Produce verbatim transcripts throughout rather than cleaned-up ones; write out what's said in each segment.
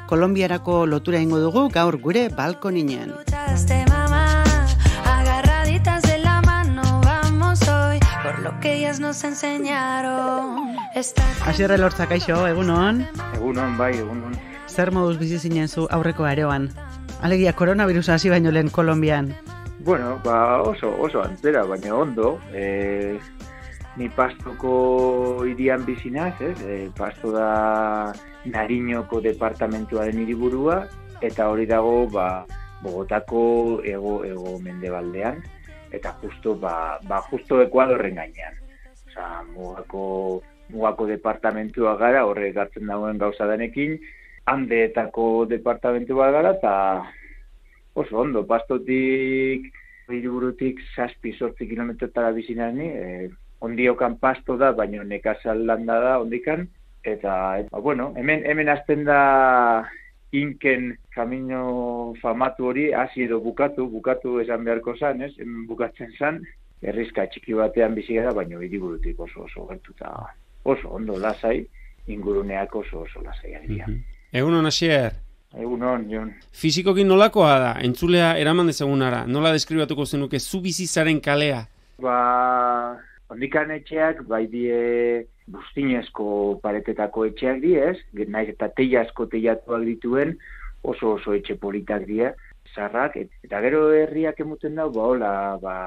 Kolonbiarako lotura ingo dugu gaur gure balkoninen. Asier Elortza, kaixo, egunon? Egunon, bai, egunon. Zer moduz bizi zinen zu aurreko areoan? Alegia, koronavirusa hasi baino lehen Kolonbian. Bueno, ba oso, oso antzera, baina ondo. E, ni Pastoko hirian bizinaz, ez? E, Pasto da Nariñoko departamentuaren hiriburua, eta hori dago, ba, Bogotako ego, ego mendebaldean, eta justo, ba, ba justo Ekuadorren gainean. Osa, mugako, mugako departamentua gara, horre gartzen dagoen gauza denekin, Andeetako departamentu bat gara, eta oso ondo, Pastotik, hiriburutik zazpi sortzi kilometrotara bizinani, e, ondiokan Pasto da, baina nekazal landa da ondikan, eta, eta bueno, hemen, hemen azten da Inken kamino famatu hori, hasi edo bukatu, bukatu esan beharko zan, ez? Hemen bukatzen zan, herrizka txiki batean bizi gara, baina hiriburutik oso oso gertuta, oso ondo lasai, inguruneak oso oso lasai agian. Mm-hmm. Egunon, Asier. Egunon, Jon. Fizikoki nolakoa da? Entzulea eraman dezagunara. Nola deskribatuko zenuke zu bizizaren kalea? Ba, ondikan etxeak, bai die buztinezko paretetako etxeak diez, naiz eta teiazko teiatuak dituen, oso oso etxe politak die, zarrak, eta gero herriak emuten dau, ba, hola, ba,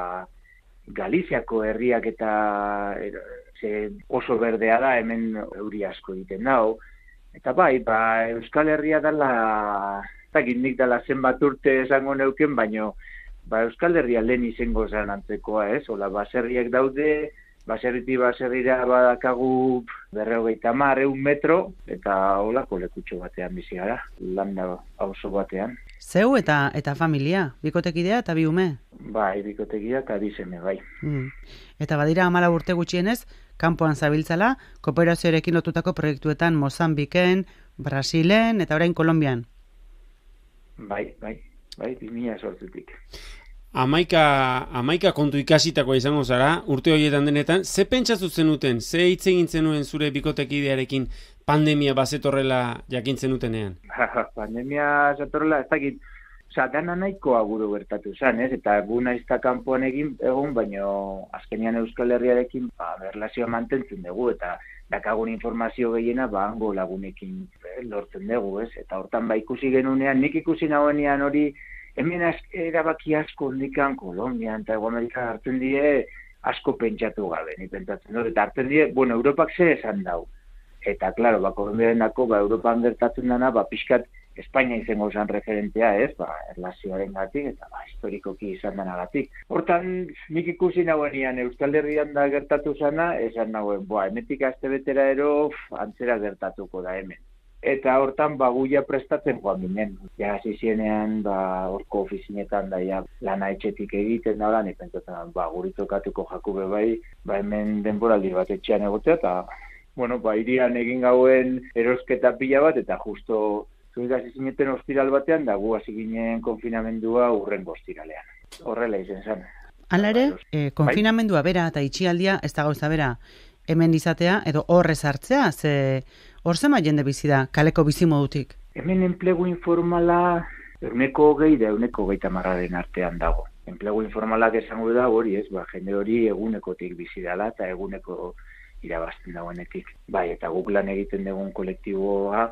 Galiziako herriak eta er, oso berdea da, hemen euri asko egiten dau. Eta bai, ba, Euskal Herria dala, eta gindik dala zenbat urte esango neuken, baino ba, Euskal Herria lehen izango zan antzekoa, ez? Ola, baserriak daude, baserriti baserrira badakagu berrogeita hamar, ehun metro, eta holako lekutxo batean bizi gara, landa auzo batean. Zeu eta eta familia, bikotekidea eta bi ume? Bai, bikotekidea eta bi seme, bai. Mm. Eta badira hamalau urte gutxienez, kanpoan zabiltzala, kooperazioarekin lotutako proiektuetan Mozambiken, Brasilen eta orain Kolonbian. Bai, bai, bai, bi mila zortzitik. Amaika, amaika kontu ikasitakoa izango zara, urte horietan denetan, ze pentsatu zenuten, ze hitz egin zenuen zure bikotekidearekin pandemia bazetorrela jakin zenutenean? Pandemia zatorrela, ez dakit, oza, dana nahikoa guru gertatu zen, ez? Eta gu naizta kanpoan egin egon, baino azkenean Euskal Herriarekin ba, erlazioa mantentzen dugu, eta dakagun informazio gehiena ba, hango lagunekin eh, lortzen dugu, ez? Eta hortan ba ikusi genunean, nik ikusi nagoenean hori, hemen erabaki asko ondikan Kolonbian eta Hego Amerikan hartzen die asko pentsatu gabe, ni pentsatzen dut, eta hartzen die, bueno, Europak zer esan dau. Eta, klaro, ba, Kolonbiaren dako, ba, Europan gertatzen dana, ba, pixkat Espainia izango zen referentea, ez, ba, erlazioaren gatik, eta, ba, historikoki izan denagatik. Hortan, nik ikusi nagoenean Euskal Herrian da gertatu zana, esan nagoen, boa, emetik azte betera ero, antzera gertatuko da hemen. Eta hortan, ba, guia prestatzen joan ginen. Ja, hasi zienean, ba, horko ofizinetan da, ja, lana etxetik egiten da, lan, ipentzatzen, ba, guritokatuko jakube bai, ba, hemen denboraldi bat etxean egotea, eta, bueno, ba, irian egin gauen erosketa pila bat, eta justo zuigaz zineten ostiral batean, da gu hasi ginen konfinamendua urrengo ostiralean. Horrela izen zen. Hala ere, eh, konfinamendua bera eta itxialdia ez da gauza bera hemen izatea, edo horrez hartzea, ze hor zema jende bizi da, kaleko bizimodutik? Hemen enplegu informala euneko hogei da euneko hogeita hamarraren artean dago. Enplegu informalak esango da hori, ez, ba, jende hori egunekotik bizi dela eta eguneko irabazten dagoenetik. Bai, eta guk lan egiten dugun kolektiboa,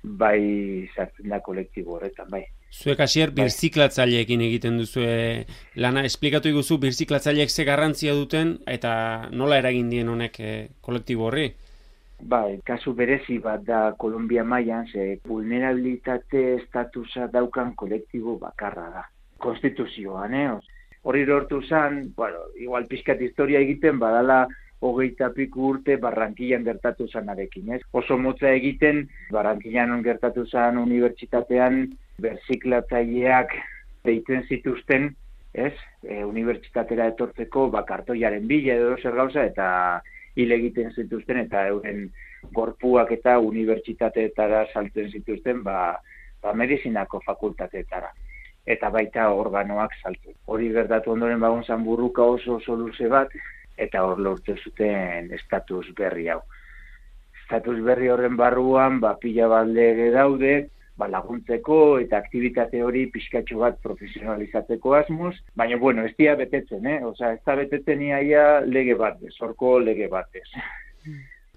bai sartzen da kolektibo horretan, bai. Zuek Asier birziklatzaileekin egiten duzue lana, esplikatu iguzu birziklatzaileek ze garrantzia duten eta nola eragin dien honek e, kolektibo horri? Bai, kasu berezi bat da Kolombia mailan, ze vulnerabilitate estatusa daukan kolektibo bakarra da. Konstituzioan, eh? Hori lortu zen, bueno, igual pixkat historia egiten badala hogeita piku urte Barranquillan gertatu zanarekin, ez? Oso motza egiten, Barranquillan gertatu zan unibertsitatean berziklatzaileak deitzen zituzten, ez? E, unibertsitatera etortzeko bakartoiaren bila edo zer gauza, eta hil egiten zituzten, eta euren gorpuak eta unibertsitateetara saltzen zituzten, ba, ba medizinako fakultateetara. Eta baita organoak saltzen. Hori gertatu ondoren bagun zan burruka oso oso luze bat, eta hor lortu zuten estatus berri hau. Estatus berri horren barruan, ba, pila bat lege daude, ba, laguntzeko eta aktibitate hori pixkatxo bat profesionalizatzeko asmoz, baina, bueno, ez dira betetzen, eh? Osa, ez da betetzen iaia lege batez, horko lege batez.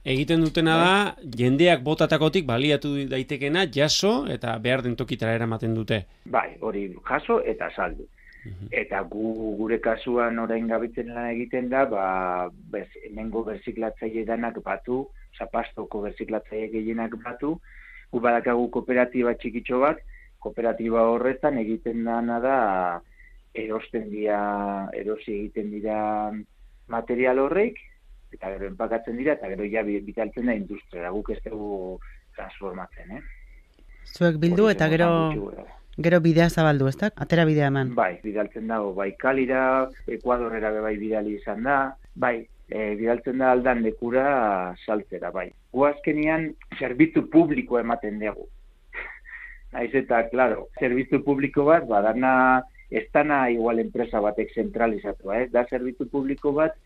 Egiten dutena da, jendeak botatakotik baliatu daitekena jaso eta behar den tokitara eramaten dute. Bai, hori jaso eta saldu. Eta gu, gure kasuan orain gabitzen lan egiten da, ba, bez, hemengo berziklatzaile danak batu, zapastoko berziklatzaile gehienak batu, gu badakagu kooperatiba txikitxo bat, kooperatiba horretan egiten dana da, erosten dira, erosi egiten dira material horreik, eta gero enpakatzen dira, eta gero ja bitaltzen da industria, guk ez dugu transformatzen, eh? Zuek bildu eta gero... Gero bidea zabaldu, ez da? Atera bidea eman. Bai, bidaltzen dago, bai Kalira, Ekuadorrera bai bidali izan da, bai, e, bidaltzen da aldan lekura saltzera, bai. Gu azkenian, zerbitzu publiko ematen dugu. Naiz eta, klaro, zerbitzu publiko bat, badana, ez dana igual enpresa batek zentralizatua, ez? Da zerbitzu publiko bat,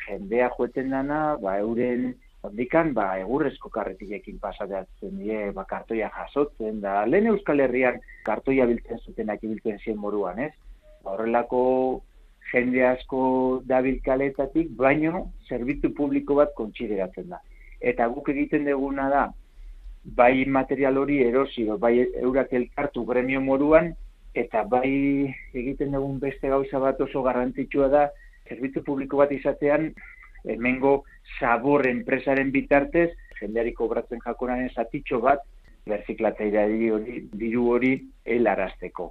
jendea joeten dana, ba, euren... Ondikan, ba, egurrezko karretilekin pasatzen die, ba, kartoia jasotzen, da, lehen Euskal Herrian kartoia biltzen zutenak ibiltzen zien moruan, ez? Horrelako jende asko dabil kaletatik, baino, zerbitzu publiko bat kontsideratzen da. Eta guk egiten duguna da, bai material hori erosi, bai eurak elkartu gremio moruan, eta bai egiten dugun beste gauza bat oso garrantzitsua da, zerbitzu publiko bat izatean, hemengo sabor enpresaren bitartez, jendeari kobratzen jakonaren zatitxo bat, berziklatzailea hori, diru hori helarazteko.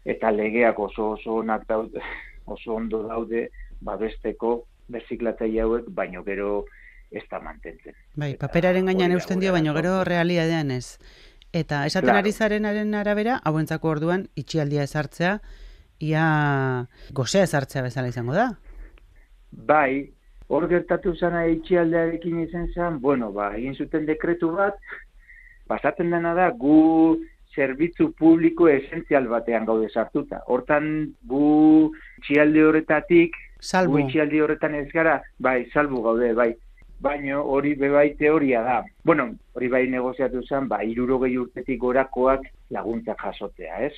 Eta legeak oso oso onak daude, oso ondo daude, babesteko berziklatzaile hauek, baino gero ez da mantentzen. Bai, paperaren gainean eusten dio, baino gero realidadean ez. Eta esaten Claro. ari zarenaren arabera, hauentzako orduan itxialdia ezartzea, ia gozea ezartzea bezala izango da. Bai, hor gertatu zana itxialdearekin izan zen, bueno, ba, egin zuten dekretu bat, pasatzen dena da, gu zerbitzu publiko esentzial batean gaude sartuta. Hortan, gu itxialde horretatik, Salbu. gu itxialde horretan ez gara, bai, salbu gaude, bai. Baino hori bebai teoria da. Bueno, hori bai negoziatu zen, ba, hirurogei urtetik gorakoak laguntza jasotzea, ez?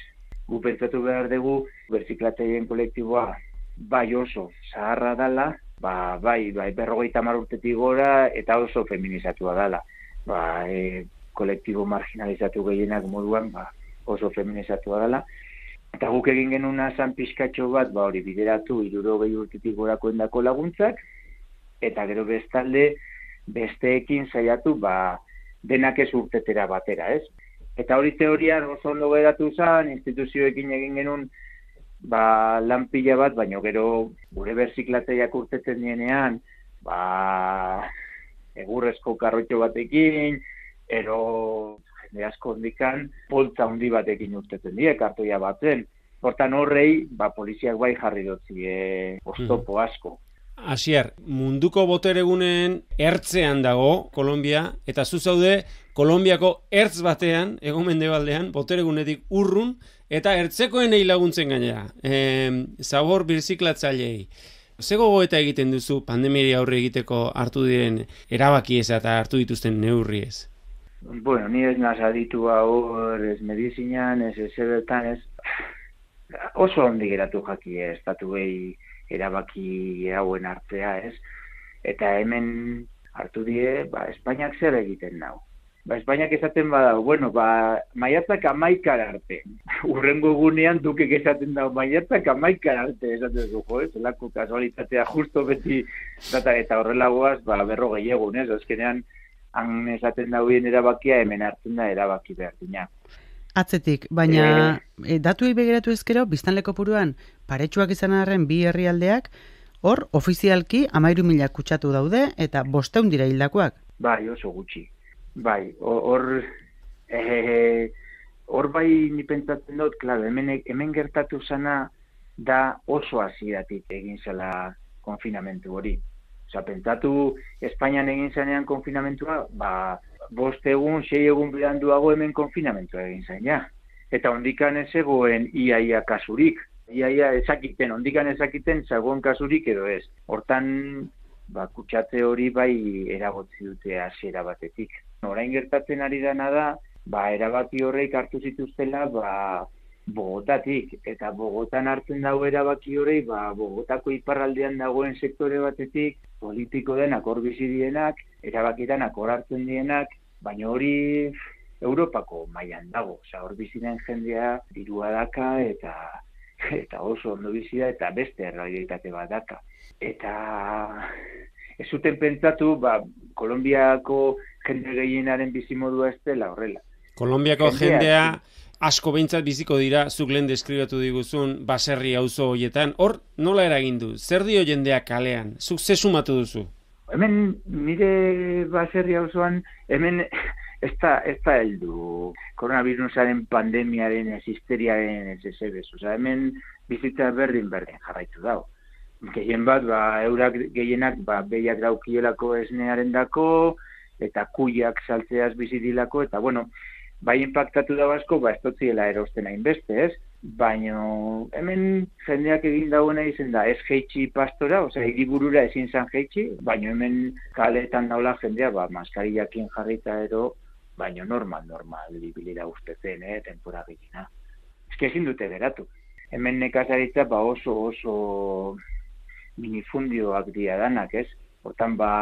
Gu pentsatu behar dugu, berziklatzaileen kolektiboa, bai oso, zaharra dala, ba, bai, bai, berrogeita hamar urtetik gora, eta oso feminizatua dala. Ba, e, kolektibo marginalizatu gehienak moduan, ba, oso feminizatua dala. Eta guk egin genuna zan pixkatxo bat, ba, hori bideratu, hirurogei urtetik gorako endako laguntzak, eta gero bestalde, besteekin saiatu, ba, denak ez urtetera batera, ez? Eta hori teorian oso ondo geratu zen, instituzioekin egin genuen, ba, lan pila bat, baina gero gure berziklatzaileak urtetzen dienean, ba, egurrezko karrotxo batekin, ero jende asko ondikan, poltza handi batekin urtetzen die, kartoia batzen. Hortan horrei, ba, poliziak bai jarri dutzi, e, oztopo asko. Asier, munduko boteregunen ertzean dago Kolombia, eta zu zaude Kolombiako ertz batean, ego mendebaldean, boteregunetik urrun, eta ertzekoenei laguntzen gainera, e, zabor birziklatzaileei. Ze gogoeta egiten duzu pandemiari aurre egiteko hartu diren erabakiez eta hartu dituzten neurriez? Bueno, ni ez naz aditua hor, ez medizinan, ez ezebertan, ez... Oso ondi geratu jaki ez, estatu behi erabaki hauen hartzea, ez? Eta hemen hartu die, ba, Espainiak zer egiten nau. Ba, Espainiak esaten badau, bueno, ba, maiatzak amaikar arte. Urrengo egunean dukek esaten dau, maiatzak amaikar arte, esaten du, jo, ez? Elako kasualitatea justo beti, data, eta horrelagoaz, ba, berrogei egun, ez? Azkenean, han esaten dauen erabakia, hemen hartzen da erabaki behar dina. Atzetik, baina e, datuei begiratu ezkero, biztanleko puruan, paretsuak izan arren bi herrialdeak, hor, ofizialki, amairu mila kutsatu daude, eta bosteun dira hildakoak. Bai, oso gutxi. Bai, hor, e, hor bai ni pentsatzen dut, klaro, hemen, hemen gertatu zana da oso hasieratik egin zela konfinamentu hori. Osa, pentsatu, Espainian egin zanean konfinamentua, ba, bost egun, sei egun beranduago hemen konfinamentua egin zain, ja. Eta ondikan ez egoen iaia kasurik. Iaia ezakiten, ondikan ezakiten zagoen kasurik edo ez. Hortan, ba, kutsatze hori bai eragotzi dute hasiera batetik. Orain gertatzen ari dana da, ba, erabaki horreik hartu zituztela, ba, Bogotatik, eta Bogotan hartzen dago erabaki horrei, ba, Bogotako iparraldean dagoen sektore batetik, politiko denak hor bizi dienak, erabakitanak hor hartzen dienak, baina hori Europako mailan dago, oza, hor bizi den jendea dirua daka, eta, eta oso ondo bizi da, eta beste errealitate bat daka. Eta ez zuten pentsatu, ba, Kolonbiako jende gehienaren bizimodua ez dela horrela. Kolonbiako jendea... jendea... asko behintzat biziko dira, zuk lehen deskribatu diguzun baserri auzo horietan. Hor, nola eragin du? Zer dio jendeak kalean? Zuk ze sumatu duzu? Hemen, nire baserri auzoan, hemen ez da, ez da heldu koronavirusaren pandemiaren, ez histeriaren, ez ez ez. Osa, hemen bizitza berdin berdin jarraitu dago. Gehien bat, ba, eurak gehienak, ba, behiak daukielako esnearen dako, eta kuiak saltzeaz bizitilako, eta bueno, bai impactatu da asko, ba, ez totziela erosten hainbeste, ez? Baina hemen jendeak egin dagoena izen da, ez jeitsi pastora, osea, hiriburura ezin zan jeitsi, baina hemen kaletan daula jendea, ba, maskariakin jarrita ero, baina normal, normal, libilira ustezen, eh, tempora gehiena. Ez que ezin dute geratu. Hemen nekazaritza, ba, oso, oso minifundioak dira danak, ez? Hortan, ba...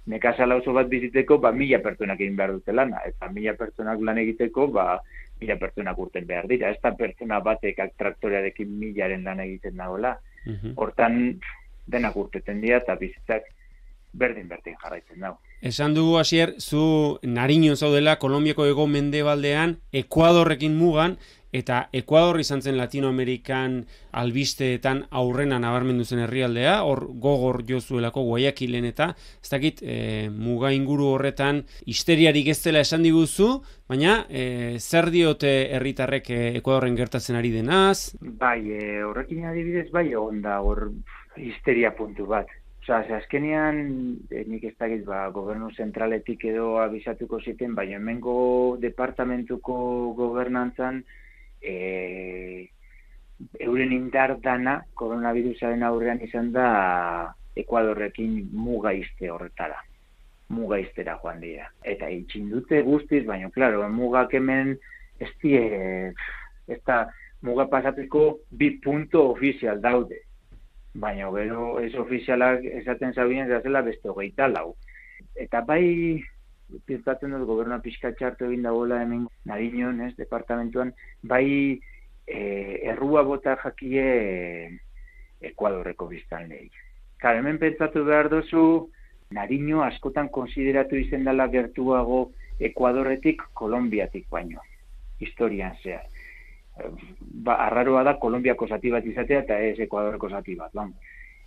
nekazala oso bat biziteko, ba, mila pertsonak egin behar dute lana, eta mila pertsonak lan egiteko, ba, mila pertsonak urten behar dira. Ez da pertsona batek traktorearekin milaren lan egiten dagoela. Hortan, denak urteten dira, eta bizitzak berdin-berdin jarraitzen dago. Esan dugu, Asier, zu Nariño zaudela, Kolonbiako hego mendebaldean, Ekuadorrekin mugan, eta Ekuador izan zen Latinoamerikan albisteetan aurrena nabarmendu zen herrialdea, hor gogor jozuelako Guayaquilen eta, ez dakit, e, muga inguru horretan histeriarik ez dela esan diguzu, baina e, zer diote herritarrek e, Ekuadorren gertatzen ari denaz? Bai, e, horrekin adibidez, bai, egon da hor histeria puntu bat. Osa, azkenean, e, nik ez dakit, ba, gobernu zentraletik edo abisatuko ziten, baina hemengo departamentuko gobernantzan, e, euren indar dana koronavirusaren aurrean izan da Ekuadorrekin muga izte horretara. Muga iztera joan dira. Eta itxin dute guztiz, baina, klaro, mugak hemen ez die, ez da muga pasateko bi punto ofizial daude. Baina, gero, ez ofizialak esaten zabien zela beste hogeita lau. Eta bai, pintatzen dut gobernua pixka txartu egin dagoela hemen Nariñon, ez, departamentuan, bai e, errua bota jakie Ekuadorreko biztanleei. Klar, hemen pentsatu behar dozu, Nariño askotan konsideratu izen dela gertuago Ekuadorretik Kolonbiatik baino, historian zehar. Ba, arraroa da Kolonbiako zati bat izatea eta ez Ekuadorreko zati bat, lan.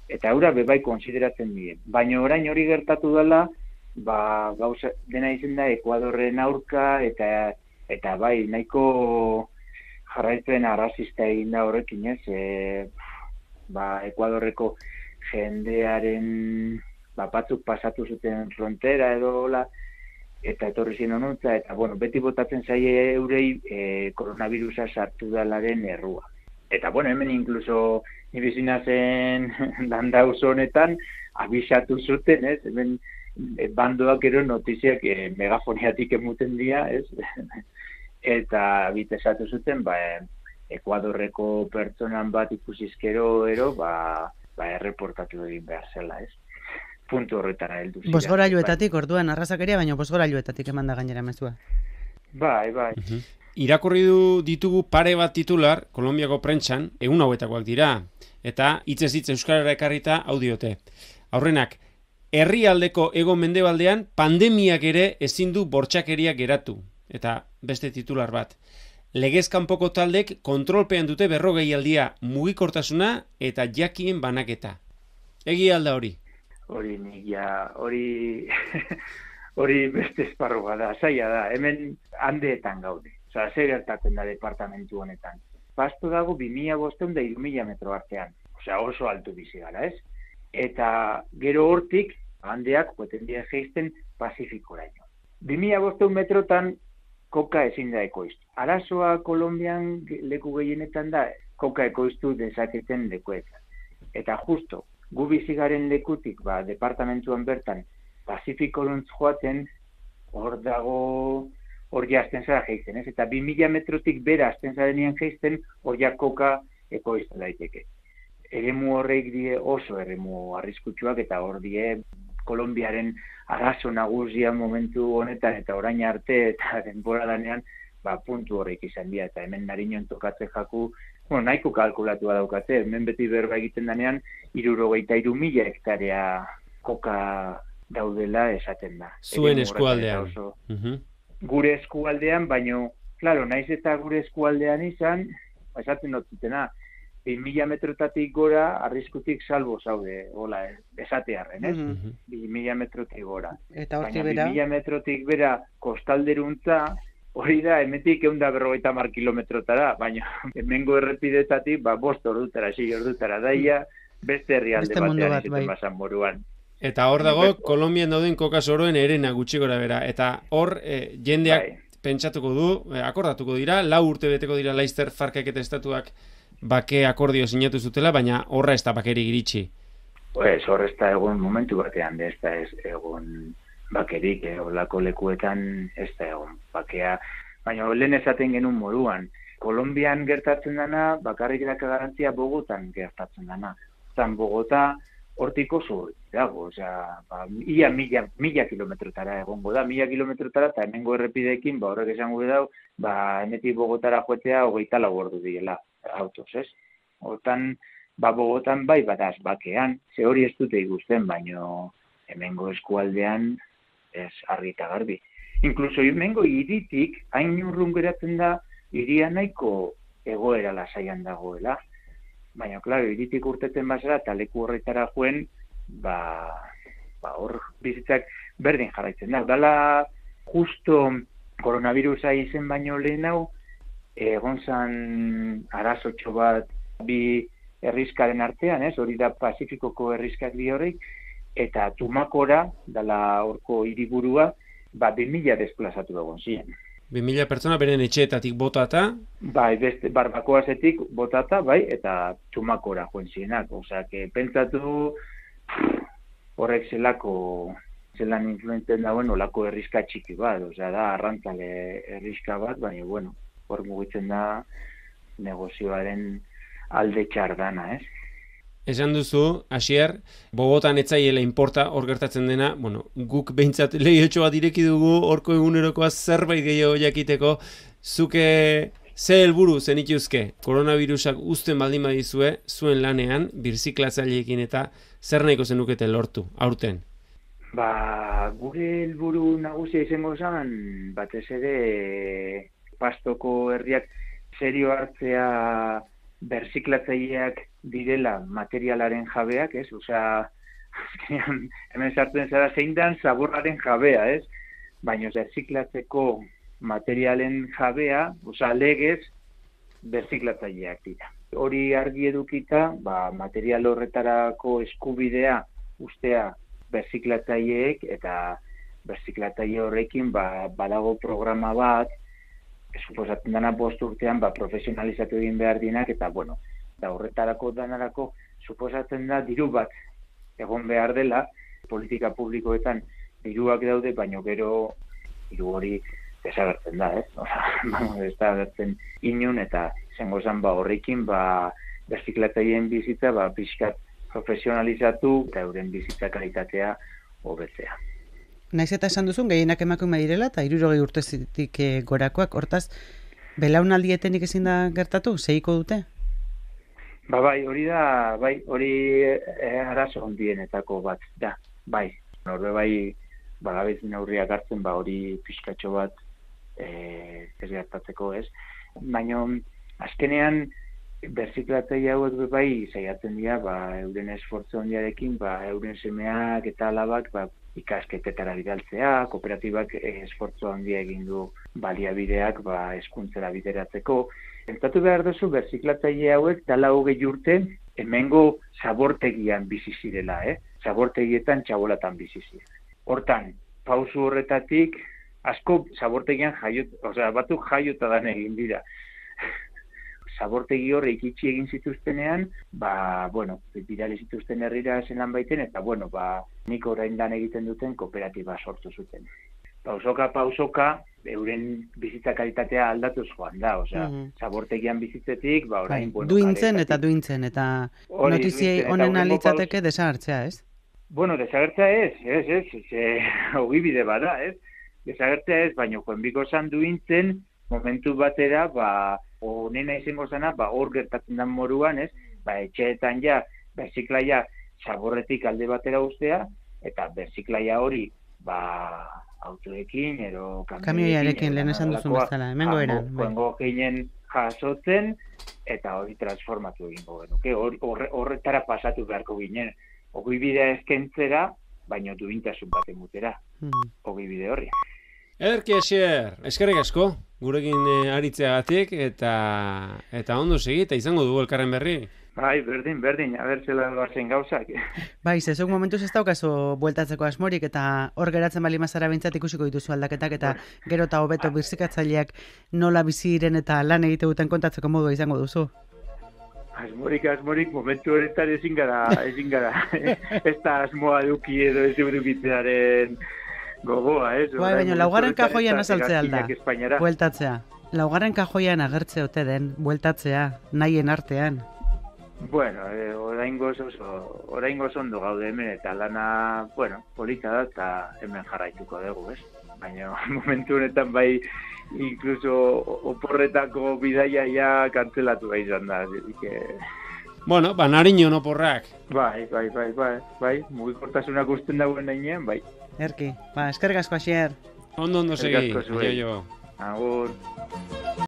Eta eura bebai konsideratzen dien. Baina orain hori gertatu dela, ba, gauza, dena izen da Ekuadorren aurka, eta eta bai, nahiko jarraitzen arrazista egin da horrekin, ez? E, ba, Ekuadorreko jendearen ba, batzuk pasatu zuten frontera edo hola, eta etorri zien honuntza, eta bueno, beti botatzen zaie eurei e, koronavirusa sartu dalaren errua. Eta bueno, hemen inkluso nibizina zen landauz honetan, abisatu zuten, ez? Hemen e, bandoak ero notiziak e, megafoniatik emuten dira, ez? Eta bitesatu zuten, ba, Ekuadorreko pertsonan bat ikusizkero ero, ba, ba erreportatu egin behar zela, ez? Puntu horretara heldu ziren. Bosgorailuetatik, orduan, arrazakeria, baina bosgorailuetatik eman da gainera mezua. Bai, bai. Uh-huh. Irakurri du ditugu pare bat titular, Kolonbiako prentsan, egun hauetakoak dira, eta hitzez hitz euskarara ekarrita hau diote. Aurrenak, herrialdeko hego mendebaldean pandemiak ere ezin du bortxakeria geratu. Eta beste titular bat. Legez kanpoko taldek kontrolpean dute berrogeialdia mugikortasuna eta jakien banaketa. Egia alda hori? Hori nik ja, hori hori beste esparru da, zaila da, hemen handeetan gaude. Osa, ze gertatzen da departamentu honetan. Pasto dago bi mila bostehun da hiru mila metro artean. Osea, oso altu bizi gara, ez? Eta gero hortik, handeak, poeten dira geizten, Pasifikoraino. bi mila bostehun metrotan koka ezin da ekoiztu. Arazoa Kolonbian leku gehienetan da, koka ekoiztu dezaketen lekuetan. Eta justo, gu bizigaren lekutik, ba, departamentuan bertan, Pasifikoruntz joaten, hor dago hor ja azten zara geizten, ez? Eta bi mila metrotik bera azten zarenean geizten, hor ja koka ekoizten daiteke. Eremu horreik die oso eremu arriskutsuak eta hor die Kolonbiaren arazo nagusia momentu honetan eta orain arte eta denbora danean, ba, puntu horreik izan dira, eta hemen Nariñon tokatze jaku, bueno, nahiko kalkulatua daukate, hemen beti berba egiten danean, hirurogeita hiru mila hektarea koka daudela esaten da. Zuen eskualdean. Oso, uh-huh. Gure eskualdean, baino, claro, naiz eta gure eskualdean izan, esaten dut zutena, bi mila metrotatik gora, arriskutik salbo zaude, hola, esatearren, ez? Mhm. bi mila metrotik gora. Eta hortik Baina bera, bi mila metrotik bera kostalderuntza, hori da, hemetik ehun eta berrogeita hamar kilometrotara, baina hemengo errepidetatik, ba, bost ordutara, sei ordutara daia, beste herrialde Beste mundu batean bat, izaten bai. basan moruan. Eta hor dago, Kolonbian dauden koka soroen erena gutxi gora bera. Eta hor, eh, jendeak Bai. pentsatuko du, eh, akordatuko dira, lau urte beteko dira Laster Farkak eta estatuak bake akordio sinatu zutela, baina horra ez da bakeri iritsi. Pues, hor ez da egon momentu batean, ez da ez egon bakerik, eh, olako lekuetan ez da egon bakea. Baina lehen esaten genuen moduan, Kolonbian gertatzen dana, bakarrik daka garantzia Bogotan gertatzen dana. Zan Bogota hortik oso dago, osea, ba, ia mila, mila kilometrotara egongo da, mila kilometrotara, eta hemengo errepideekin, ba, horrek esango dau, ba, hemetik Bogotara joetea hogeita lau ordu direla autoz, ez? Hortan, ba, Bogotan bai badaz bakean, ze hori ez dute ikusten, baino hemengo eskualdean ez argi eta garbi. Inkluso hemengo hiritik, hain urrun geratzen da, hiria nahiko egoera lasaian dagoela. Baina, klaro, hiritik urteten bazara, eta leku horretara joen, ba, ba, hor bizitzak berdin jarraitzen da. Dala, justo koronavirusa izen baino lehen hau, egon zan arazotxo bat bi herrizkaren artean, ez? Hori da Pazifikoko herrizkak bi horreik, eta Tumakora, dala horko hiriburua, ba, bi mila desplazatu egon ziren. bi mila pertsona beren etxeetatik botata. Bai, beste barbakoazetik botata, bai, eta Tumakora joen zirenak. Osea, que pentsatu horrek zelako, zelan influenten dauen olako herrizka txiki bat. Osea, da arrantzale herrizka bat, baina, bueno, hor mugitzen da negozioaren alde txardana, ez? Esan duzu, Asier, Bogotan etzaiela inporta hor gertatzen dena, bueno, guk behintzat lehiotxo bat ireki dugu, horko egunerokoa zerbait gehiago jakiteko, zuke ze helburu zenituzke, koronavirusak uzten baldin badizue, zuen lanean, birziklatzaileekin eta zer nahiko zenukete lortu, aurten? Ba, gure helburu nagusia izango zen, batez ere Pastoko herriak serio hartzea berziklatzaileak direla materialaren jabeak, ez? Osea, azkenean, hemen sartzen zara zein dan zaborraren jabea, ez? Baina berziklatzeko materialen jabea, osea, legez berziklatzaileak dira. Hori argi edukita, ba, material horretarako eskubidea ustea berziklatzaileek eta berziklatzaile horrekin ba, badago programa bat, suposatzen dana bost urtean ba, profesionalizatu egin behar dinak, eta bueno, da horretarako danarako suposatzen da diru bat egon behar dela, politika publikoetan diruak daude, baino gero diru hori desagertzen da, ez? Osea, ez da agertzen inun, eta izango zen ba, horrekin ba, berziklatzaileen bizitza ba, pixkat profesionalizatu eta euren bizitza kalitatea hobetzea. Naiz eta esan duzun, gehienak emakume direla, eta hirurogei urtezitik e, gorakoak, hortaz, belaunaldietenik ezin da gertatu, segiko dute? Ba bai, hori da, bai, hori e, arazo hondienetako bat, da, bai. Horbe bai, bagabez neurriak hartzen, ba hori pixkatxo bat e, ez gertatzeko, ez? Baina, azkenean, berziklatzaile hauek bai saiatzen dira, ba, euren esfortzu handiarekin, ba, euren semeak eta alabak, ba, ikasketetara bidaltzea, kooperatibak esfortzu handia egin du baliabideak ba, hezkuntzara bideratzeko. Pentsatu behar duzu, berziklatzaile hauek dala hogei urte hemengo zabortegian bizi zirela, eh? Zabortegietan txabolatan bizi ziren. Hortan, pausu horretatik, asko zabortegian jaiot, osea, batzuk jaiota dan egin dira. Zabortegi horre ikitsi egin zituztenean, ba, bueno, bidali zituzten herrira zelan baiten, eta, bueno, ba, nik orain lan egiten duten kooperatiba sortu zuten. pausoka pausoka euren bizitza kalitatea aldatuz joan da, osea, Mhm. zabortegian bizitzetik, ba, orain, bueno, duintzen karetatik- eta duintzen, eta Hori, notiziei duintzen, eta honen hurrengo alitzateke desagertzea, ez? Bueno, desagertzea ez, ez, ez, ez, ogibide bada, ez? Desagertzea ez, baina joenbiko zan duintzen, momentu batera, ba, onena izango zana, ba, hor gertatzen den moruan, ez? Ba, etxeetan ja, berziklaia zaborretik alde batera ustea, eta berziklaia hori, ba, autoekin, edo Kamioiarekin, lehen esan duzun bezala, hemengo eran, bai. Joango ginen jasotzen, eta hori transformatu egingo genuke, hor- horre- horretara pasatu beharko ginen. Ogibidea eskentzera, baina duintasun bat emutera, Mhm. ogibide horri. Ederki Asier, eskerrik asko, gurekin eh, aritzeagatik, eta eta ondo segi, eta izango dugu elkarren berri. Bai, berdin, berdin, abertzela doazen gauzak. Bai, zezuk momentuz ez daukazu bueltatzeko asmorik, eta hor geratzen bali mazara bintzat ikusiko dituzu aldaketak, eta gero eta hobeto birzikatzaileak nola biziren eta lan egite duten kontatzeko modua izango duzu. Asmorik, asmorik, momentu honetan ezin gara, ezin gara. Ez da asmoa duki edo ez edukitzearen gogoa, ez? Bai, baina laugarren kajoian azaltzea alda, Hegazkinak Espainiara. bueltatzea. Laugarren kajoian agertze ote den, bueltatzea, nahien artean. Bueno, eh, oraingoz oso, oraingoz ondo gaude hemen, eta lana, bueno, polita da, eta hemen jarraituko dugu, ez? Baina momentu honetan bai, incluso oporretako bidaia ja kantzelatu bai izan da, así que... Bueno, ba, nariño no porrak. Bai, bai, bai, bai, bai, mugikortasunak usten dagoen nainean, bai. Erki, ba, eskerrik asko Asier. Ondo ondo Eskerrik segi, asko zuei. jo, jo. Agur.